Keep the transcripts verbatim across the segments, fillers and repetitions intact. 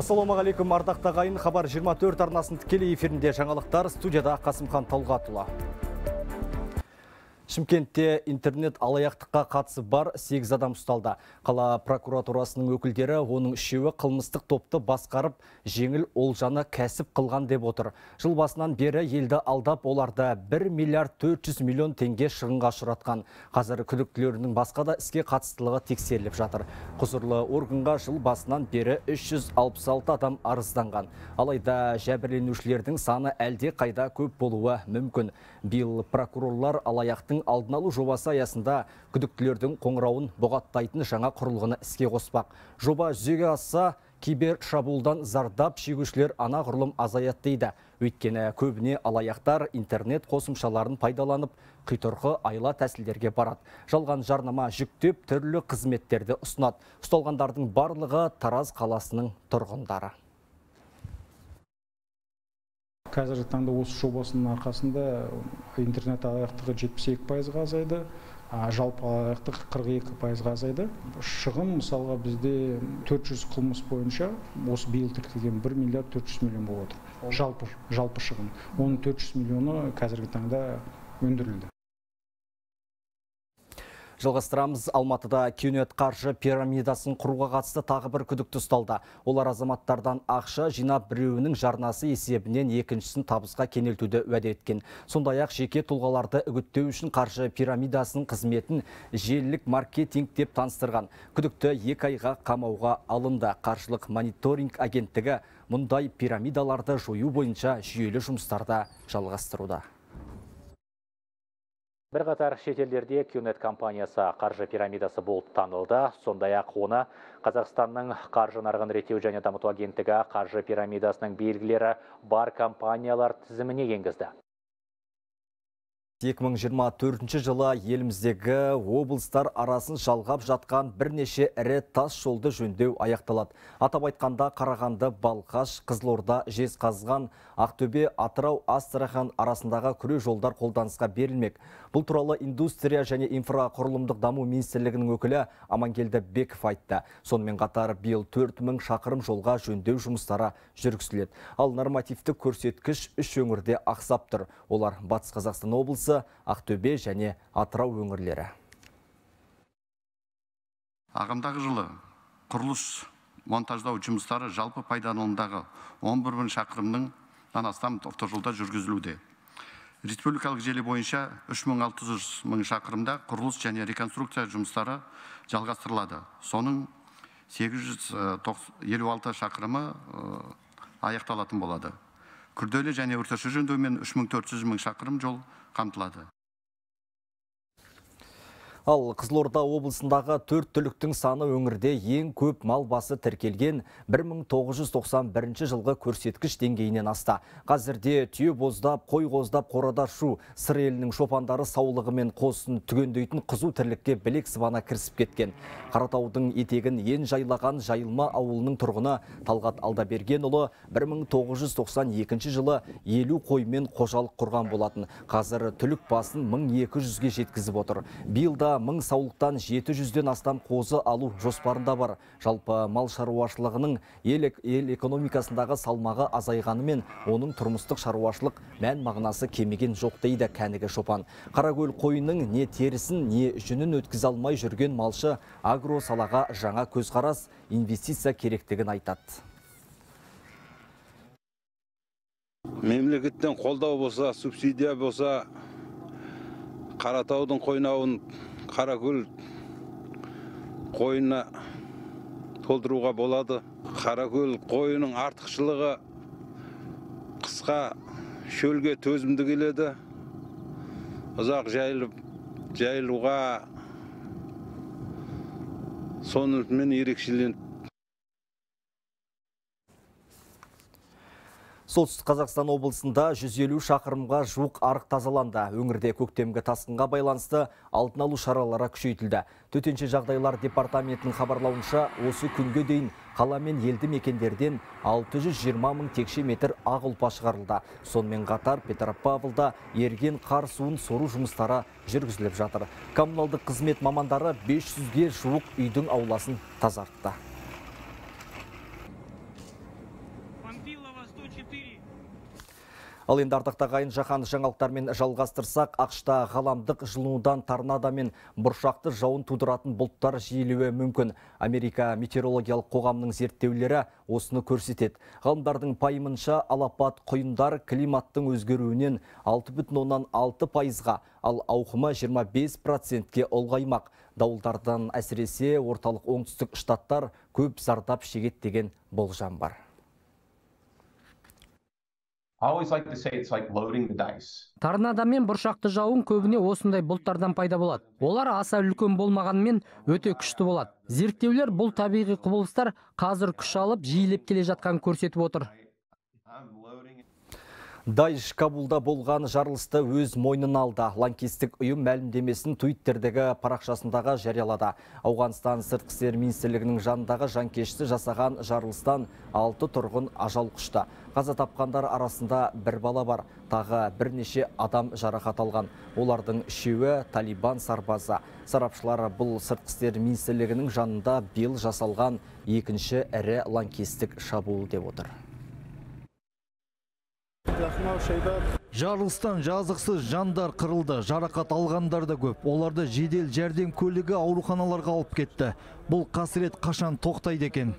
Ассалаумағалейкум, ардақта ағайын. Хабар жиырма төрт арнасын тікелей эфирінде жаңалықтар, студияда Қасымхан Талғатұлы. Шымкентте интернет алаяқтыққа қатысы бар сегіз адам ұсталды. Қала прокуратурасының өкілдері оның үшеуі қылмыстық топты басқарып, жеңіл олжаны кәсіп қылған деп отыр. Жыл басынан бері елді алдап, оларда бір миллиард төрт жүз миллион теңге шығынға ұшыратқан. Қазір күдіктілерінің басқа да іске қатыстылығы тексеріліп жатыр. Құзырлы органға жыл басынан бері үш жүз алпыс алты адам арызданған. Алайда жәбірленушілердің саны әлде қайда көп болуы мүмкін. Биыл прокурорлар алаяқтың алдын алу жобасы аясында күдіктілердің қоңырауын бұғаттайтын жаңа құрылғыны іске қоспақ. Жоба жүзеге асса, кибер шабуылдан зардап шегушілер анағұрлым азаят дейді. Өйткені көбіне алаяқтар интернет қосымшаларын пайдаланып, қитұрқы айла тәсілдерге барады. Жалған жарнама жүктеп, түрлі қызметтерді ұсынады. Ұсталғандардың барлығы Тараз қаласының тұрғындары. Қазіргі таңда осы жобасының арқасында интернет алаяқтығы жетпіс екі пайызға азайды, жалпы алаяқтық қырық екі пайызға азайды. Шығын мысалға бізде төрт жүз қылмыс бойынша осы биыл тіркелген бір миллиард төрт жүз миллион болып отыр. Жалпы, жалпы шығын. Оның төрт жүз миллионы қазіргі таңда өндірілді. Жалғастырамыз. Алматыда Кюнет қаржы пирамидасын құруға қатысты тағы бір күдікті ұсталды. Олар азаматтардан ақша жинап, біреуінің жарнасы есебінен екіншісін табысқа кенелтуді уәде еткен. Сондай-ақ жеке тұлғаларды үгіттеу үшін қаржы пирамидасының қызметін желілік маркетинг деп таныстырған. Күдікті екі айға қамауға алынды. Қаржылық мониторинг агенттігі мұндай пирамидаларды жою бойынша жүйелі жұмыстарда жалғастыруда. Бір қатар шетелдерде Кюнет компаниясы қаржы пирамидасы болып танылды. Сондай-ақ оны Қазақстанның қаржы нарығын реттеу және дамыту агенттігі қаржы пирамидасының белгілері бар компаниялар тізіміне енгізді. екі мың жиырма төртінші жылы еліміздегі облыстар арасын жалғап жатқан бірнеше ірі тас жолды жөндеу аяқталады. Атап айтқанда Қарағанды, Балқаш, Қызылорда, Жезқазған, Ақтөбе, Атырау, Астрахан арасындағы күре жолдар қолданысқа берілмек. Бұл туралы индустрия және инфрақұрылымдық даму министрлігінің өкілі Амангелді Беков айтты. Сонымен қатар биыл төрт мың шақырым жолға жөндеу жұмыстары жүргізіледі. Ал нормативтік көрсеткіш үш өңірде ақсап тұр. Олар Батыс Қазақстан облысы, Ақтөбе және Атырау өңірлері. Ағымдағы жылы құрылыс монтаждау жұмыстары жалпы пайдаланымдағы он бір мың шақырымның астам автожолда жүргізілуде. Республикалық желі бойынша үш мың алты жүз мың шақырымда құрылыс және реконструкция жұмыстары жалғастырылады. Соның сегіз жүз елу алты шақырымы аяқталатын болады. Күрделі және орташа жөндеумен үш мың төрт жүз мың шақырым жол қамтылады. Ал Қызылорда облысындағы төрт түліктің саны өңірде ең көп мал басы тіркелген бір мың тоғыз жүз тоқсан бірінші жылғы көрсеткіш деңгейінен асты. Қазірде түйе боздап, қой қоздап, қорада шу, сыр елінің шопандары саулығы мен қосын түгендейтін қызу тірлікке білек сыбана кірісіп кеткен. Қаратаудың етегін ен жайлаған Жайылма ауылының тұрғыны Талғат Алдабергенұлы бір мың тоғыз жүз тоқсан екінші жылы елу қоймен қожалық құрған болатын. Қазір түлік басын мың екі жүзге жеткізіп отыр. Биылда мың саулықтан жеті жүзден астам қозы алу жоспарында бар. Жалпы мал шаруашылығының ел экономикасындағы салмағы азайғанымен, оның тұрмыстық шаруашылық мән мағынасы кемеген жоқ дейді кәнігі шопан. Қаракөл қойының не терісін, не жүнін өткізе алмай жүрген малшы агро салаға жаңа көзқарас, инвестиция керектігін айтады. Мемлекеттен қолдау болса, субсидия болса, Қаратаудың қойнауын Қаракөл қойына толтыруға болады. Қаракөл қойының артықшылығы қысқа шөлге төзімді келеді. Ұзақ жайылып, жайылуға сонымен ерекшеленеді. Солтүстік Қазақстан облысында жүз елу шақырымға жуық арық тазаланды. Өңірде көктемгі тасқынға байланысты алдын алу шаралары күшейтілді. Төтенше жағдайлар департаментінің хабарлауынша, осы күнге дейін қала мен елді мекендерден алты жүз жиырма мың текше метр ақ ұлпа шығарылды. Сонымен қатар Петропавлда ерген қар суын сору жұмыстары жүргізіліп жатыр. Коммуналдық қызмет мамандары бес жүзге жуық үйдің ауласын тазартты. Ал енді ардақтағайын жаһан жаңалықтармен жалғастырсақ, ақшта ғаламдық жылынудан торнадо мен бұршақты жауын тудыратын бұлттар жиілеуі мүмкін. Америка метеорологиялық қоғамының зерттеулері осыны көрсетеді. Ғалымдардың пайымынша алапат құйындар климаттың өзгеруінен алты бүтін оннан алты пайызға, ал ауқымы жиырма бес процентке ұлғаймақ. Дауылдардан әсіресе орталық оңтүстік штаттар көп зардап шегеді деген болжам бар. Торнадо мен бұршақты жауын көбіне осындай бұлттардан пайда болады. Олар аса үлкен болмағанымен өте күшті болады. Зерттеулер бұл табиғи құбылыстар қазір күш алып, жиілеп келе жатқанын көрсетіп отыр. Даиш Кабулда болған жарылысты өз мойнына алды. Лаңкестік ұйым мәлімдемесін Твиттердегі парақшасындағы жариялады. Ауғанстан сыртқы істер министрлігінің жанындағы жанкешті жасаған жарылыстан алты тұрғын ажал құшты. Қаза тапқандар арасында бір бала бар. Тағы бірнеше адам жарақат алған. Олардың үшеуі Талибан сарбазы. Сарапшылар бұл сыртқы істер министрлігінің жанында биыл жасалған екінші ірі лаңкестік шабуыл деп отыр. Жарылыстан жазықсыз жандар қырылды, жарақат алғандар да көп. Оларды жедел жәрдем көлігі ауруханаларға алып кетті. Бұл қасірет қашан тоқтайды екен?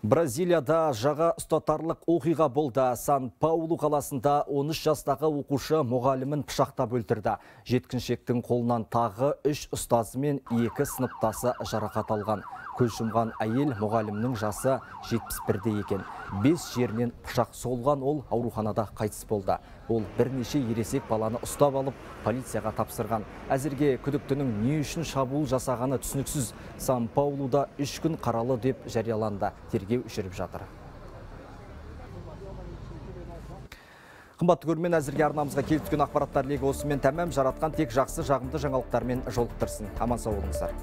Бразилияда жаға ұстатарлық оқиға болды. Сан-Паулу қаласында он үш жастағы оқушы мұғалімін пышақтап өлтірді. Жеткіншектің қолынан тағы үш ұстазы мен екі сыныптасы жарақат алған. Көз жұмған әйел мұғалімнің жасы жетпіс бірде екен. Бес жерінен пышақ соғылған, ол ауруханада қайтыс болды. Ол бірнеше ересек баланы ұстап алып, полицияға тапсырған. Әзірге күдіктінің не үшін шабуыл жасағаны түсініксіз. Сан-Паулуда үш күн қаралы деп жарияланды. Тергеу жүріп жатыр. Қымбатты көрермен, әзірге арнамызға келіп түскен ақпараттар легі осымен тәмам. Жаратқан тек жақсы жағымды жаңалықтармен жолықтырсын. Аман сау болыңыздар.